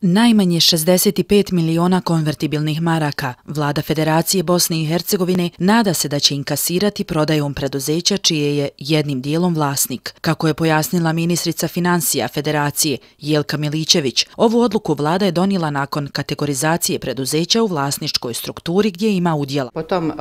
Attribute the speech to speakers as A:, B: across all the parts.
A: Najmanje 65 miliona konvertibilnih maraka vlada Federacije Bosne i Hercegovine nada se da će inkasirati prodajom preduzeća čije je jednim dijelom vlasnik. Kako je pojasnila ministrica financija Federacije Jelka Milićević, ovu odluku vlada je donijela nakon kategorizacije preduzeća u vlasničkoj strukturi gdje ima udjela.
B: Po tom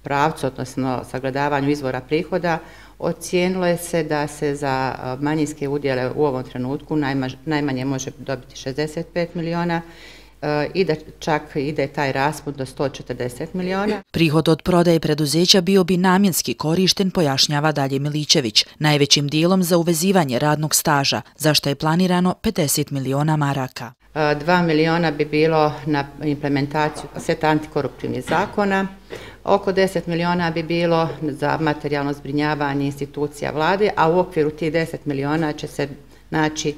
B: pravcu, odnosno sagledavanju izvora prihoda, ocijenilo je se da se za manjinske udjele u ovom trenutku najmanje može dobiti 65 miliona i da čak ide taj raspon do 140 miliona.
A: Prihod od prodaje preduzeća bio bi namjenski korišten, pojašnjava dalje Milićević, najvećim dijelom za uvezivanje radnog staža, za što je planirano 50 miliona maraka.
B: 2 miliona bi bilo na implementaciju seta antikoruptivnih zakona, oko 10 miliona bi bilo za materijalno zbrinjavanje institucija vlade, a u okviru tih 10 miliona će se naći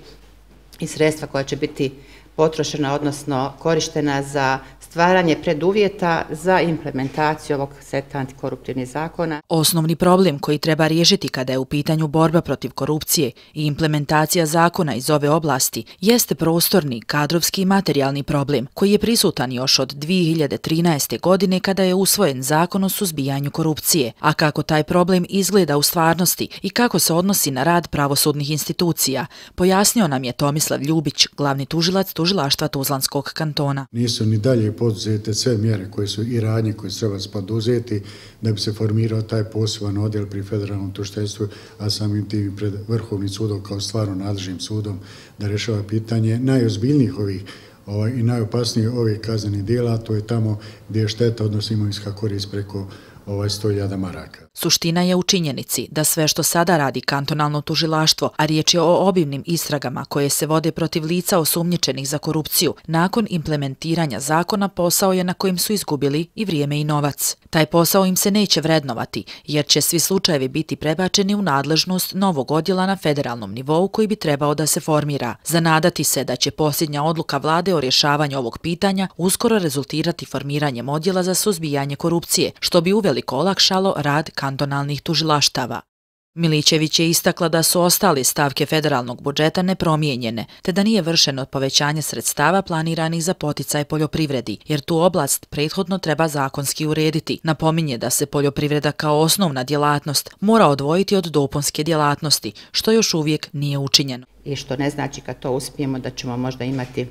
B: i sredstva koja će biti potrošena, odnosno korištena za stvaranje preduvjeta za implementaciju ovog seta antikoruptivnih zakona.
A: Osnovni problem koji treba riješiti kada je u pitanju borba protiv korupcije i implementacija zakona iz ove oblasti jeste prostorni, kadrovski i materijalni problem koji je prisutan još od 2013. godine kada je usvojen zakon o suzbijanju korupcije. A kako taj problem izgleda u stvarnosti i kako se odnosi na rad pravosudnih institucija, pojasnio nam je Tomislav Ljubić, glavni tužilac Tužilaštva Tuzlanskog kantona.
C: Nisu ni dalje poduzete sve mjere koje su i radnje koje se treba poduzeti da bi se formirao taj poseban odjel pri federalnom tužiteljstvu, a samim tim pred Vrhovnim sudom kao stvarno nadležnim sudom da rješava pitanje najozbiljnijih ovih i najopasnijih ovih kaznenih djela, to je tamo gdje je šteta, odnosno imovinska korist preko 100.000 maraka.
A: Suština je u činjenici da sve što sada radi kantonalno tužilaštvo, a riječ je o obimnim istragama koje se vode protiv lica osumnjičenih za korupciju, nakon implementiranja zakona posao je na kojem su izgubili i vrijeme i novac. Taj posao im se neće vrednovati, jer će svi slučajevi biti prebačeni u nadležnost novog odjela na federalnom nivou koji bi trebao da se formira. Zanadati se da će posljednja odluka vlade o rješavanju ovog pitanja uskoro rezultirati formiranjem odjela za suzbijanje korupcije, što bi uveliko olakšalo rad kantonalnih tužilaštava. Milićević je istakla da su ostale stavke federalnog budžeta nepromijenjene, te da nije vršeno povećanje sredstava planiranih za poticaj poljoprivredi, jer tu oblast prethodno treba zakonski urediti. Napominje da se poljoprivreda kao osnovna djelatnost mora odvojiti od dopunske djelatnosti, što još uvijek nije učinjeno.
B: I što ne znači kad to uspijemo da ćemo možda imati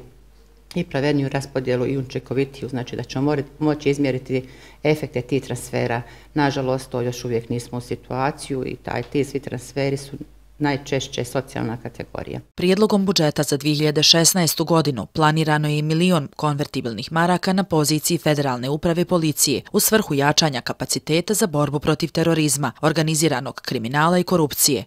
B: i pravedniju raspodjelu i učinkovitiju, znači da ćemo moći izmjeriti efekte tih transfera. Nažalost, to još uvijek nismo u situaciju i ti svi transferi su najčešće socijalna kategorija.
A: Prijedlogom budžeta za 2016. godinu planirano je 1 milion konvertibilnih maraka na poziciji Federalne uprave policije u svrhu jačanja kapaciteta za borbu protiv terorizma, organiziranog kriminala i korupcije.